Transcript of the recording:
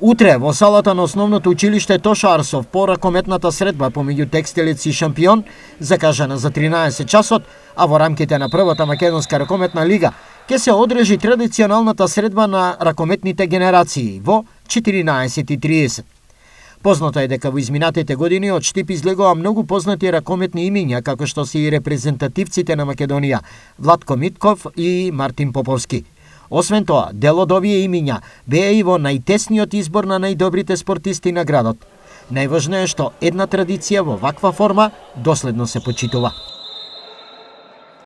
Утре во салата на основното училиште Тоша Арсов по ракометната средба помеѓу Текстилец и Шампион, закажана за 13 часот, а во рамките на првата македонска ракометна лига ќе се одржи традиционалната средба на ракометните генерации во 14:30. Познато е дека во изминатите години од Штип излегува многу познати ракометни имиња, како што се и репрезентативците на Македонија Владко Митков и Мартин Поповски. Освен тоа, дел од овие имиња беа и во најтесниот избор на најдобрите спортисти на градот. Најважно е што една традиција во ваква форма доследно се почитува.